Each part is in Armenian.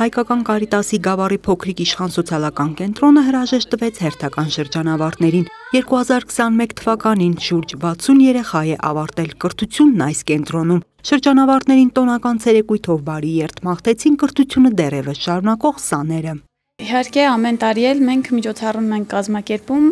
Հայկական Կարիտասի Գավառի փոքրիկ իշխան սոցիալական կենտրոնը հրաժեշտ տվեց հերթական շրջանավարտներին։ 2021 թվականին շուրջ 60 երեխա է ավարտել կրթությունն այս կենտրոնում։ Շրջանավարտներին տոնական ցերեկույթով բարի երթ մաղթեցին կրթությունը դեռևս շարունակող սաները։ Իհարկե ամեն տարի էլ մենք միջոցառում ենք կազմակերպում,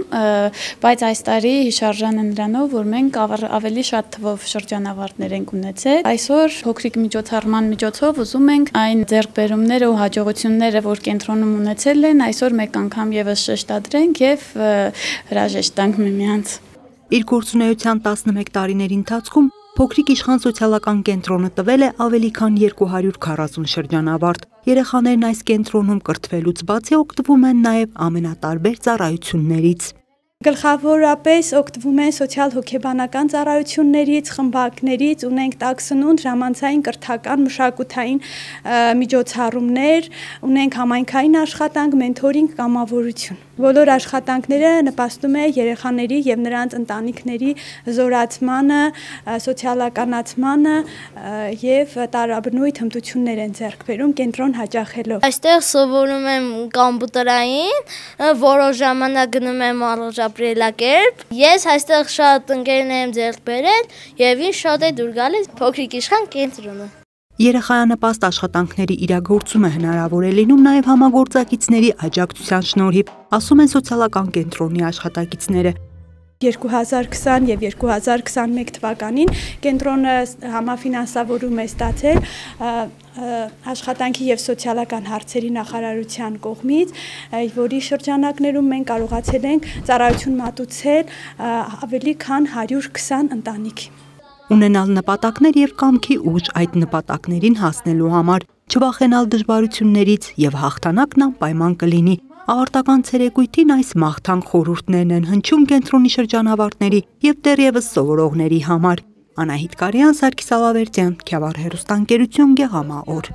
բայց այս տարի հիշարժան է նրանով, որ մենք ավելի շատ թվով շրջանավարտներ ենք ունեցել։ Այսօր փոքրիկ միջոցառման միջոցով ուզում ենք այն ձեռքբերումները ու հաջողությունները, որ կենտրոնում ունեցել են, այսօր մեկ անգամ եւս շեշտադրենք եւ հրաժեշտ տանք միմյանց։ Իր գործունեության 11 տարիների ընթացքում Փոքրիկ իշխան սոցիալական կենտրոնը տվել է ավելի քան 240 շրջանավարտ։ Երեխաներն այս կենտրոնում կրթվելուց բացի օգտվում են նաև ամենատարբեր ծառայություններից։ Գլխավորապես օգտվում են սոցիալ-հոգեբանական ծառայություններից, խմբակներից, ունենք տաքսնունդ, ժամանցային կրթական, մշակութային միջոցառումներ, ունենք համայնքային աշխատանք, մենթորինգ, կամավորություն։ Բոլոր աշխատանքները նպաստում է երեխաների եւ նրանց ընտանիքների զորացմանը, սոցիալականացմանը եւ տարաբնույթ հմտություններ են ձեռք բերում կենտրոն հաճախելով։ Այստեղ սովորում եմ կոմպյուտերային, որոշ ժամանակ գնում եմ ապրելակերպ։ Ես այստեղ շատ ընկերներ եմ ձեռք բերել եւ ինձ շատ է դուր գալիս փոքրիկ իշխան կենտրոնը։ Երեխայանպաստ աշխատանքների իրագործումը հնարավոր է լինում նաև համագործակիցների աջակցության շնորհիվ, ասում են սոցիալական կենտրոնի աշխատակիցները։ 2020 եւ 2021 թվականին կենտրոնը համաֆինանսավորում է ստացել աշխատանքի եւ սոցիալական հարցերի նախարարության կողմից, որի շրջանակներում մենք կարողացել ենք ծառայություն մատուցել ավելի քան 120 ընտանիքի։ Ունենալ նպատակներ եւ կամքի ուժ այդ նպատակներին հասնելու համար, չվախենալ դժվարություններից եւ հաղթանակն անպայման կլինի։ Ավարտական ցերեկույթին այս մաղթանք խորհուրդներն են հնչում կենտրոնի շրջանավարտների եւ դեռևս սովորողների համար։ Անահիտ Կարյան, Սարգիս Ալավերդյան, Քյավառ հեռուստաընկերություն, Գեղամա օր։